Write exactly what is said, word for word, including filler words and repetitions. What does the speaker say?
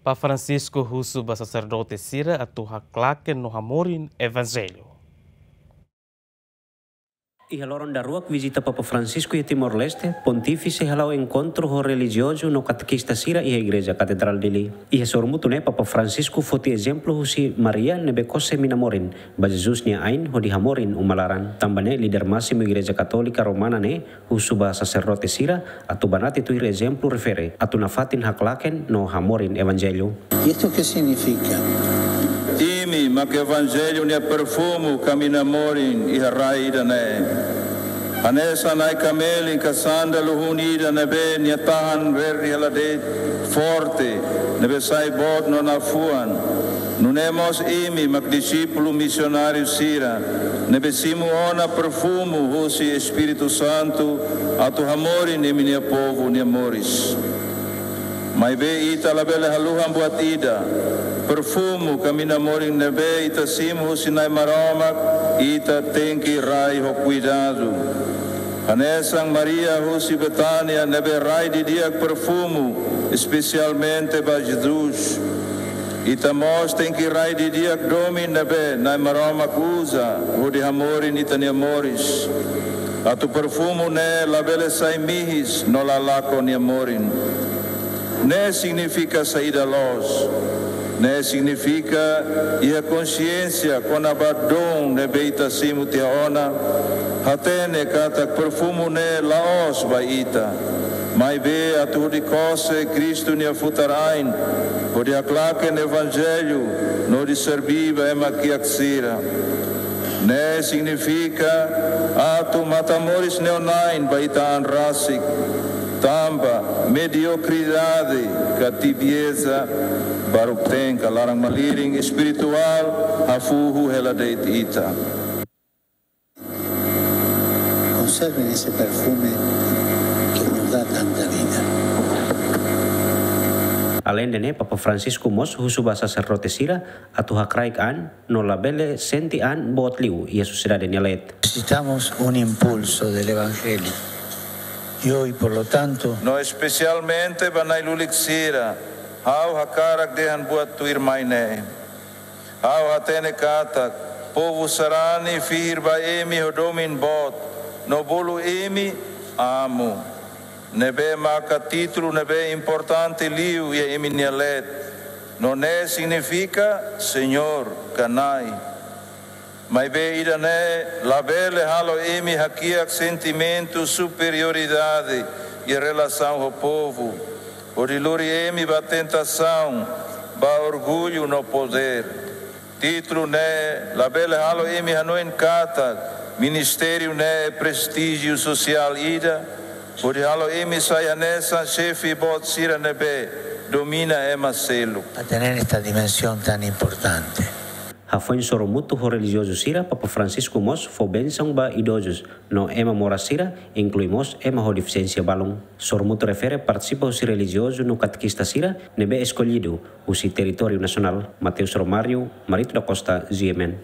Papa Francisco husu ba saserdote sira atu haklaken no hamorin Evanjellu. Iha loron daruak vizita Papa Francisco iha Timor-Leste, Pontífise hala'o enkontru ho relijiozu no katekista sira iha Igreja Katedrál Dili. Iha sorumutu ne'e Papa Francisco foti ezemplu husi Maria ne'ebé kose mina morin ba Jesus nia ain hodi hamorin uma laran. Tanba ne'e líder másimu Igreja Katólika Romana ne'e husu ba saserdote sira atu banati tuir ezemplu refere atu nafatin haklaken no hamorin Evanjellu. ¿Y esto qué significa? Imi mak Evanjellu nia perfumu ka mina morin iha rai ida-ne'e. Hanesan Nai kamelin ka sándalu hun ida ne'ebé nia tahan verde hela de'it, forte, ne'ebé sai boot no nafuan. Nune'e mós imi mak dixípulu misionáriu sira ne'ebé simu ona perfumu husi Espíritu Santu atu hamorin imi-nia povu nia moris. Maibé ita labele haluhan buat ida. Perfumu ka mina morin ne'ebé ita simu husi Nai Maromak, ita tenke rai ho kuidadu. Hanesan Maria husi Betánia ne'ebé rai didi'ak perfumu, espesialmente ba Jesus. Ita mós tenke rai didi'ak domin ne'ebé Nai Maromak uza hodi hamorin ita-nia moris. Atu perfumu ne'e labele sai mihis no la lakon nia morin. Ne'e signifika saida loos? Ne'e signifika iha konxiénsia kona-ba don ne'ebé ita simu tiha ona, hatene katak perfumu ne'e la'ós ba ita. Maibé atu hodi kose Kristu nia futar-ain, hodi haklaken Evanjellu, no hodi serbí ba ema kiak sira. Ne'e signifika atu matan-moris neon-ain ba ita an rasik, tanba mediokridade ka tibieza baruk-teen ka laran-malirin espirituál hafuhu hela de'it ita. Conserven ese perfume que nos da tanta vida. Aleinde ne'e, Papa Francisco mós husu ba saserdote sira atu hakraik an no labele sente an boot liu iha sosiedade nia leet. Necesitamos un impulso del Evangelio. Y hoy, por lo tanto, no espesialmente ba na'i-lulik sira, ha'u hakarak dehan buat tuirmai ne'e. Ha'u hatene katak povu sarani fihir ba imi ho domin boot, no bolu imi Amu, ne'ebé maka títulu ne'ebé importante liu iha imi-nia leet, no ne'e signifika Señór ka Nai. Maibé ida-ne'e labele halo imi hakiak sentimentu superioridade iha relasaun ho povu, hodi lori imi ba tentasaun, ba orgullu no podér. Títulu ne'e labele halo imi hanoin katak ministériu ne'e prestíjiu sosiál ida, hodi halo imi sai hanesan xefe boot sira ne'ebé domina ema seluk. A tener esta dimensión tan importante. Hafoin sorumutu ho relijiozu sira, Papa Francisco mós fó bensaun ba idozus no ema moras sira, inklui mós ema ho defisiénsia balun. Sorumutu refere partisipa husi relijiozu no katekista sira ne'ebé eskollidu husi territóriu nasionál. Mateus Romário, Marito da Costa, G M N.